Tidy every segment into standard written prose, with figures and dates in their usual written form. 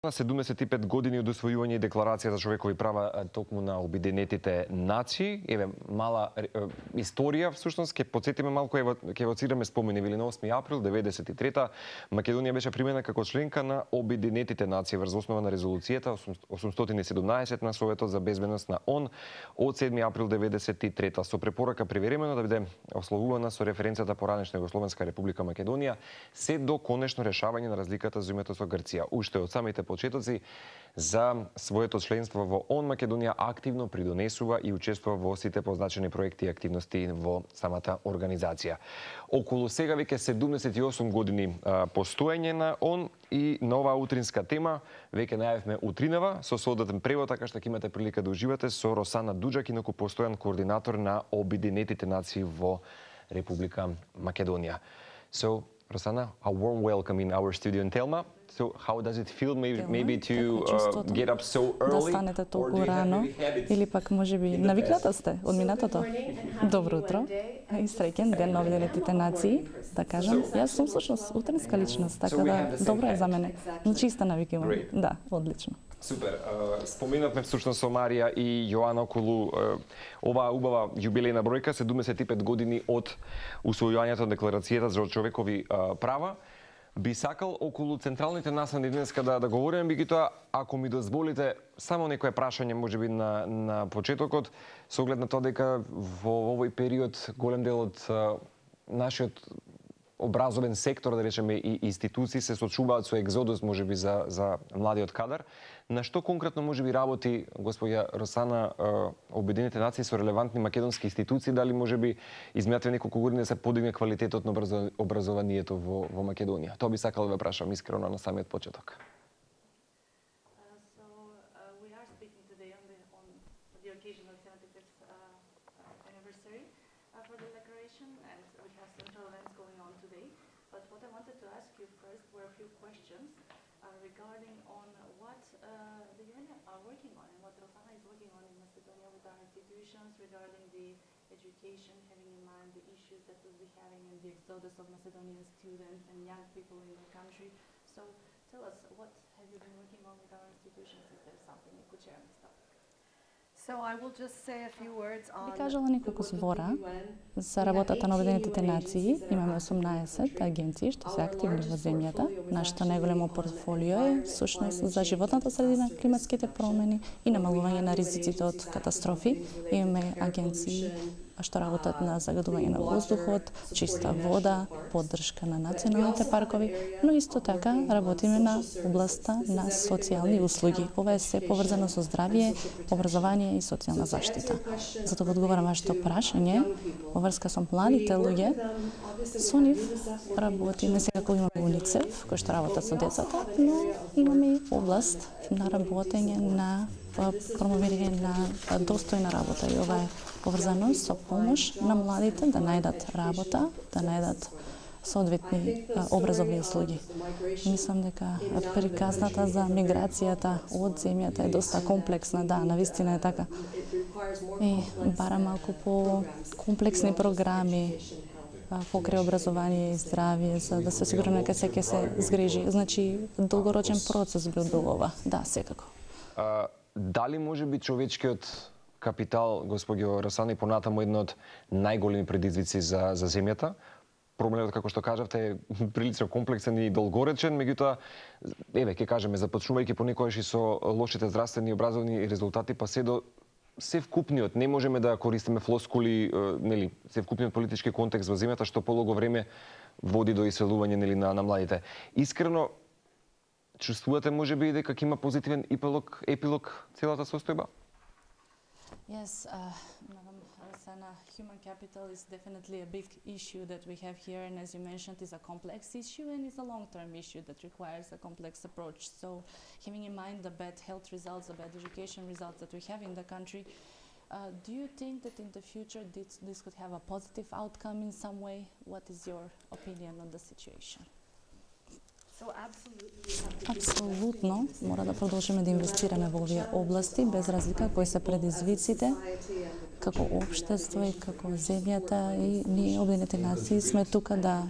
На 75 години од усвојување и декларација за човекови права токму на Обединетите нации, еве мала историја всушност, ќе потсетиме малку, ќе евоцираме спомени. На 8 април 93-та Македонија беше примена како членка на Обединетите нации врз основа на резолуцијата 817 на Советот за безбедност на ООН од 7 април 93-та со препорака привремено да биде ословувана со референцијата поранешна Југословенска република Македонија се до конечно решавање на разликата за земјата со Грција. Уште од самите почетоци за своето членство во ООН, Македонија активно придонесува и учествува во сите позначени проекти и активности во самата организација. Околу сега веќе 78 години постоење на ООН и на оваа утринска тема веќе најавивме утринава со соодветен превод, така што ќе имате прилика да уживате со Росана Дуџак, инаку постојан координатор на Обединетите нации во Република Македонија. So, Rosana, a warm welcome in our studio in Telma. So, how does it feel maybe to get up so early? Да станете толку рано или пак можеби навикната сте од минатото? Добро утро и среќен ден на Обединетите нации, да кажам. Јас сум всушност утринска личност, така да добро е за мене. Чиста навика имам. Да, одлично. Супер. Споменавме всушност со Марија и Јоана околу оваа убава јубилејна бројка, 75 години од усвојувањето на декларацијата за човекови права. Би сакал околу централните насани денеска да говориме, меѓутоа, ако ми дозволите, само некое прашање можеби на почетокот, со оглед на тоа дека во овој период голем дел од нашиот образовен сектор, да речеме, и институции се соочуваат со екзодус можеби за младиот кадар. На што конкретно можеби работи господја Росана Обединетите нации со релевантни македонски институции, дали можеби изминатите неколку години се подигне квалитетот на образованието во Македонија? Тоа би сакал да ве прашам искрено на самиот почеток. Regarding on what the UN are working on and what Rosana is working on in Macedonia with our institutions regarding the education, having in mind the issues that we'll be having in the exodus of Macedonian students and young people in the country. So tell us, what have you been working on with our institutions? If there's something you could share on this topic. Би кажала неколку збора за работата на Обединетите нации. Имаме 18 агенции што се активни во земјата. Нашето најголемо портфолио е всушност за животната средина, климатските промени и намалување на ризиците од катастрофи. Имаме агенции што работат на загадување на воздухот, чиста вода, поддршка на националните паркови, но исто така работиме на областа на социјални услуги. Ова е се поврзано со здравје, образование и социјална заштита. Затоа го одговарам вашето прашање во врска со младите луѓе. Со нив работиме секако имаме УНИЦЕФ кој што работат со децата, но имаме и област на работење на промовирање на достојна работа и ова е поврзано со помош на младите да најдат работа, да најдат соодветни образовни услуги. Мислам дека приказната за миграцијата од земјата е доста комплексна, да, навистина е така. И бара малку по комплексни програми покрај образование и здравје, за да се сигурно дека се ќе се згрижи. Значи, долгорочен процес би бил ова. Да, секако. Дали може би човечкиот капитал, господјо Росана, и понатаму едно од најголеми предизвици за земјата? Проблемот, како што кажавте, е прилично комплексен и долгоречен, меѓутоа, еве, ќе кажеме, започнувајќи понекогаш и со лошите здравствени и образовни резултати, па се до севкупниот, не можеме да користиме флоскули, нели, севкупниот политички контекст во земјата, што полого време води до иселување, нели, на младите. Искрено, чувствувате можеби дека има позитивен епилог целата состојба? Yes, Madam Rosana, human capital is definitely a big issue that we have here, and as you mentioned, is a complex issue and is a long-term issue that requires a complex approach. So, having in mind the bad health results, the bad education results that we have in the country, do you think that in the future this could have a positive outcome in some way? What is your opinion on the situation? Апсолутно, мора да продолжиме да инвестираме во овие области, без разлика кои се предизвиците, како општество и како земјата, и ние Обединетите нации сме тука да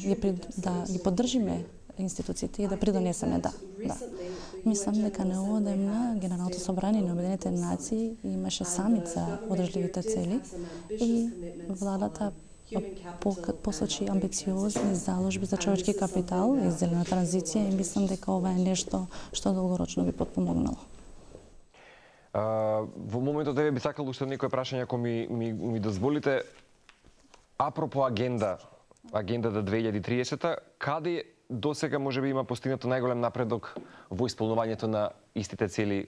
ги поддржиме институциите и да придонесеме, да. Мислам дека неодамна Генералното собрание на Обединетите нации имаше самит за одржливите цели и владата посочи амбициозни заложби за човечки капитал и зелена транзиција и мислам дека ова е нешто што долгорочно би потпомогнало. Во моментот еве би сакал уште некои прашања ако ми дозволите. Апропо агендата 2030, каде досега можеби има постигнато најголем напредок во исполнувањето на истите цели,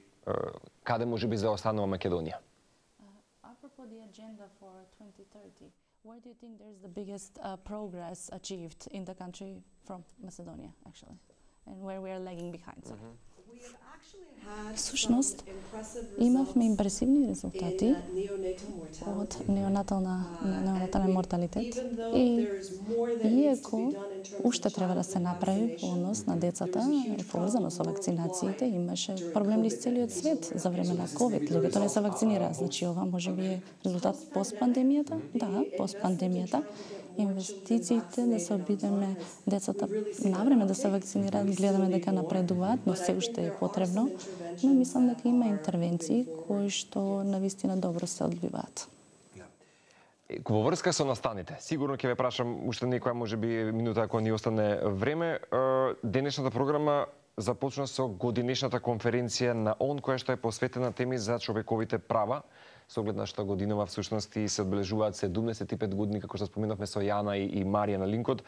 каде можеби заостанува Македонија? Apropos the agenda for 2030, where do you think there's the biggest progress achieved in the country from Macedonia, actually, and where we are lagging behind? Всушност, имавме импресивни резултати од неонатален морталитет и иако уште треба да се направи во однос на децата и поврзано со вакцинациите, имаше проблем низ целиот свет за време на ковид. Луѓето не се вакцинираа, значи ова можеби е резултат постпандемијата? Да, постпандемијата. Инвестициите да се обидеме децата навреме да се вакцинираат, гледаме дека напредуваат, но се уште е потребно. Но мислам дека има интервенции кои што навистина добро се одбиваат. Во врска со настаните, сигурно ќе ве прашам уште некоја можеби минута ако ни остане време. Денешната програма започна со годинешната конференција на ООН која што е посветена теми за човековите права. Со оглед на што годинава всушност и се одбележуваат 75 години, како што споменавме со Јана и Марија на линкот,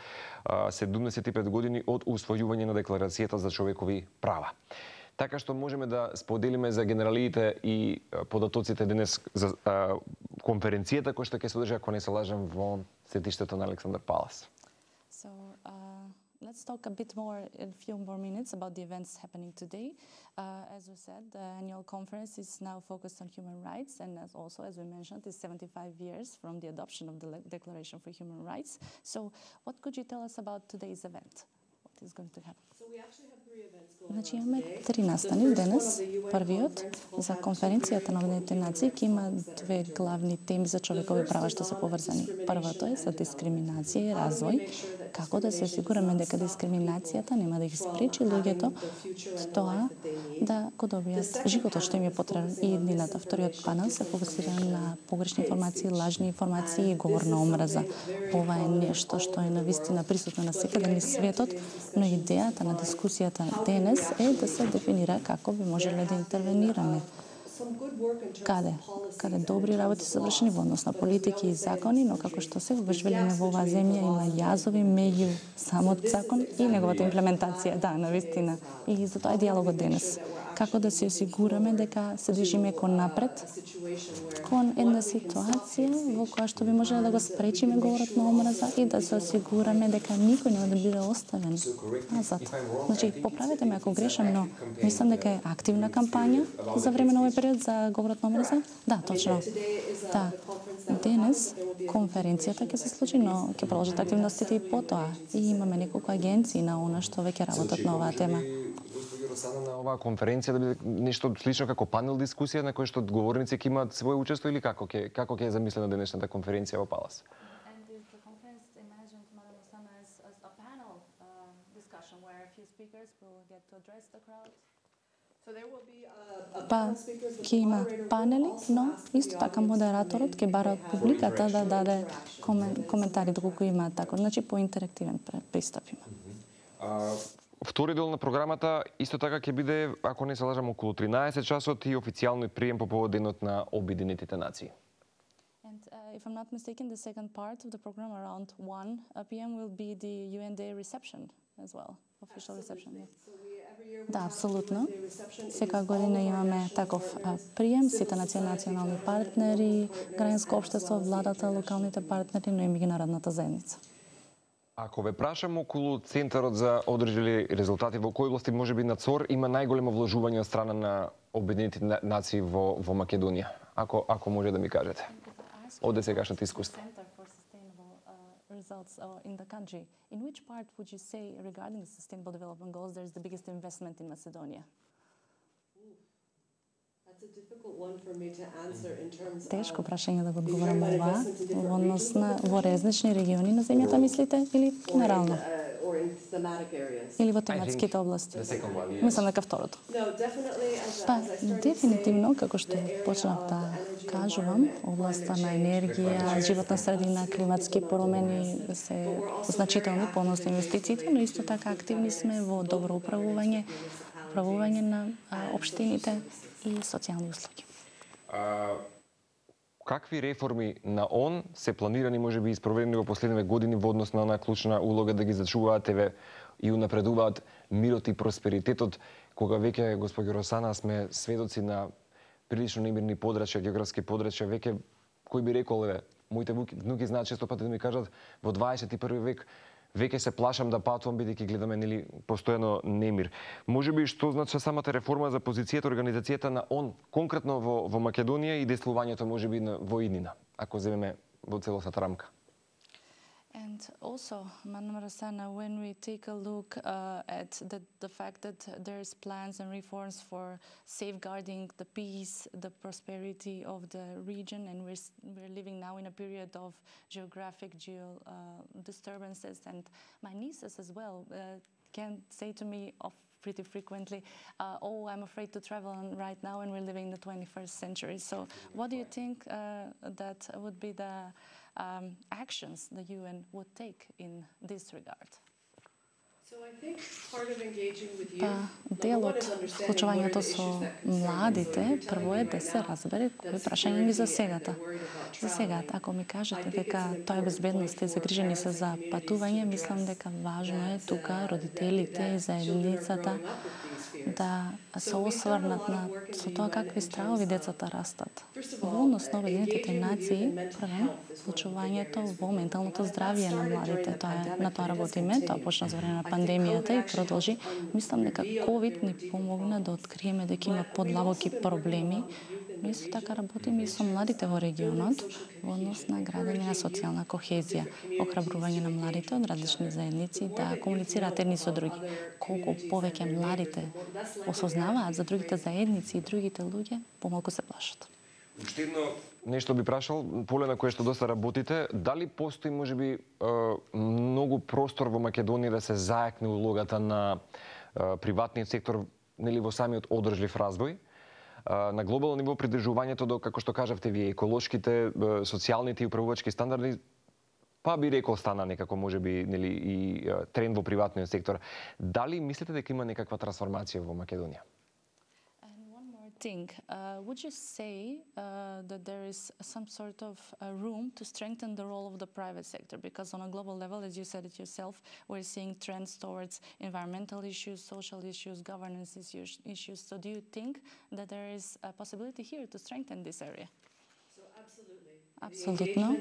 75 години од усвојување на Декларацијата за човекови права. Така што можеме да споделиме за генералиите и податоците денес за конференцијата која што ќе се одржи, ако не се лажам, во сетиштето на Александар Палас. So, let's talk a bit more in a few more minutes about the events happening today. As we said, the annual conference is now focused on human rights, and as we mentioned, it's 75 years from the adoption of the Declaration for Human Rights. So, what could you tell us about today's event? What is going to happen? Значи имаме три настани денес. Првиот за конференцијата на Обединетите нации ќе има две главни теми за човекови права што се поврзани. Првото е за дискриминација и развој, како да се осигураме дека дискриминацијата нема да ги спречи луѓето тоа да го добијат животот што им е потребен и еднината. Вториот панел се фокусира на погрешни информации, лажни информации и говор на омраза. Ова е нешто што е навистина присутно навсекаде низ светот, но идејата на дискусијата денес е да се дефинира како би можеле да интервенираме. Каде добри работи се вршени во однос на политики и закони, но како што секогаш велиме во оваа земја има јазови меѓу самот закон и неговата имплементација. Да, навистина. И за тоа е диалогот денес. Како да се осигураме дека се движиме кон напред, кон една ситуација во која што би можеле да го спречиме говорот на омраза и да се осигураме дека никој нема да биде оставен назад. Значи, поправете ме ако грешам, но мислам дека е активна кампања за време на овој период за говорот на омраза. Да, точно. Да. Денес конференцијата ќе се случи, но ќе продолжат активностите и потоа. И имаме неколку агенции на ООН што веќе работат на оваа тема. На оваа конференција да биде нешто слично како панел дискусија на кој што говорници ќе имаат своје учество или како ќе е замислена денешната конференција во Палас? Па, ќе има панели, но исто така модераторот ќе бара од публиката да даде коментари доколку имаат така, значи поинтерактивен пристап има. Втори дел на програмата исто така ќе биде, ако не се лажам, околу 13 часот и официјалниот прием по повод денот на Обединетите нации. And if I'm not mistaken, the second part of the program around 1 p.m. will be the UN Day reception as well, official reception. Yeah. Да, апсолутно. Секоја година имаме таков прием, сите национални партнери, граѓанско општество, владата, локалните партнери, но и меѓународната заедница. Ако ве прашам околу Центарот за одржливи резултати, во кои области можеби на ЦОР има најголемо вложување од страна на Обединетите нации во Македонија? Ако може да ми кажете. Од досегашното искуство. Results in the country. In which part would you say regarding the Sustainable Development Goals there is the biggest investment in Macedonia? Тешко прашање да го одговорам ова во однос на во различни региони на земјата, мислите, или генерално? or in thematic areas? Или во тематските области? The second one, yes. Мислам дека второто. No, definitely Па, as I started to дефинитивно, say, како што the area почнав of да energy, кажувам, environment, областа climate на change, енергија, животна средина, климатски промени се значителни по однос на инвестициите, но исто така активни сме во добро управување на општините и социјални услуги. Какви реформи на ООН се планирани, можеби и спроведени во последниве години во однос на онаа клучна улога да ги зачуваат и унапредуваат мирот и просперитетот, кога веќе, госпоѓо Росана, сме сведоци на прилично немирни подрачја, географски подрачја, веќе кој би рекол, моите внуки знаат често пати да ми кажат во 21 век веќе се плашам да патувам бидејќи гледаме постојано немир. Можеби што значи самата реформа за позицијата, организацијата на ООН конкретно во Македонија и действувањето можеби во иднина, ако земеме во целосната рамка. And also, Madam Rossana, when we take a look at the fact that there's plans and reforms for safeguarding the peace, the prosperity of the region, and we're living now in a period of geographic disturbances, and my nieces as well can say to me pretty frequently, oh, I'm afraid to travel right now, and we're living in the 21st century. So what do you think that would be the actions the UN would take in this regard? So I think part of engaging with youth, Па, дел од вклучувањето со младите, прво е да се разбере кои прашања ги засегата. Засегат, ако ми кажете дека тоа е безбедност и загрижени се за патување, мислам дека важно е тука родителите и заедницата да се осврнат со тоа какви стравови децата растат. Во однос на Обединетите нации, прво, вклучувањето во менталното здравје на младите, на тоа работиме, тоа почна за време на пандемијата и продолжи. Мислам дека ковид ни помогна да откриеме дека има подлабоки проблеми, но исто така работиме и со младите во регионот во однос на градење на социјална кохезија, охрабрување на младите од различни заедници да комуницираат едни со други. Колку повеќе младите осознаваат за другите заедници и другите луѓе, помалку се плашат. Уште едно нешто би прашал, поле на кое што доста работите, дали постои можеби многу простор во Македонија да се зајакне улогата на приватниот сектор, нели во самиот одржлив развој? На глобално ниво придржувањето до, како што кажавте вие, еколошките, социјалните и управувачки стандарди, па би рекол стана некако можеби нели и тренд во приватниот сектор. Дали мислите дека има некаква трансформација во Македонија? Would you say that there is some sort of room to strengthen the role of the private sector? Because on a global level, as you said it yourself, we're seeing trends towards environmental issues, social issues, governance issues. So do you think that there is a possibility here to strengthen this area? Апсолутно.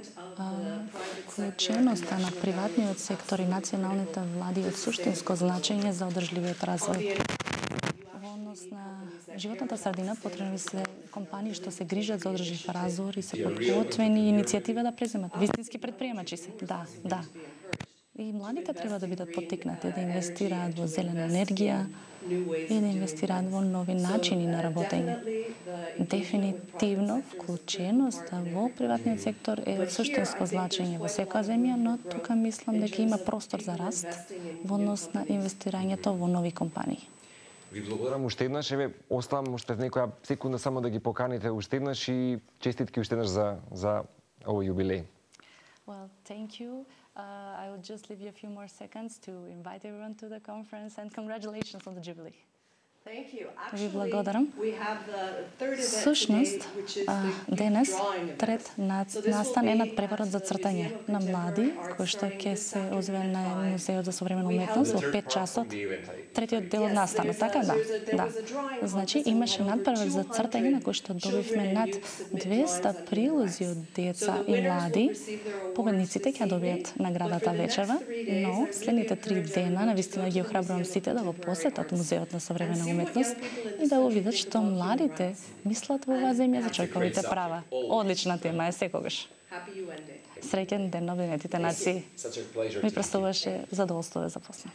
Вклученоста на приватниот сектор и националните влади е од суштинско значење за одржливиот развој. Во однос на животната средина потребни се компании што се грижат за одржлив развој и се подготвени иницијатива да преземат. Вистински предприемачи се. Да. И младите треба да бидат поттикнати да инвестираат во зелена енергија и да инвестираат во нови начини на работење. Дефинитивно вклученоста во приватниот сектор е од суштинско значење во секоја земја, но тука мислам дека има простор за раст во однос на инвестирањето во нови компании. Ви благодарам уште еднаш, оставам уште некоја секунда само да ги поканите уште еднаш и честитки уште еднаш за овој јубилеј. Well, thank you. I will just leave you a few more seconds to invite everyone to the conference and congratulations on the Jubilee. Ви благодарам. Сушност, денес трет настан е надпреварот за цртање на млади, кој што ќе се озвие на Музеот за современа уметност во 5 часот. Третиот дел од настанот, така да. Значи имаше надпревар за цртање на кој што добивме над 200 прилози од деца и млади. Победниците ќе добијат наградата вечерва, но следните 3 дена навистина ги охрабрувам сите да го посетат Музеот на современа уметност и да го видат што младите мислат во оваа земја за човековите права. Одлична тема е секогаш. Среќен ден на Обединетите нации. Ми представуваше задоволство да запознам.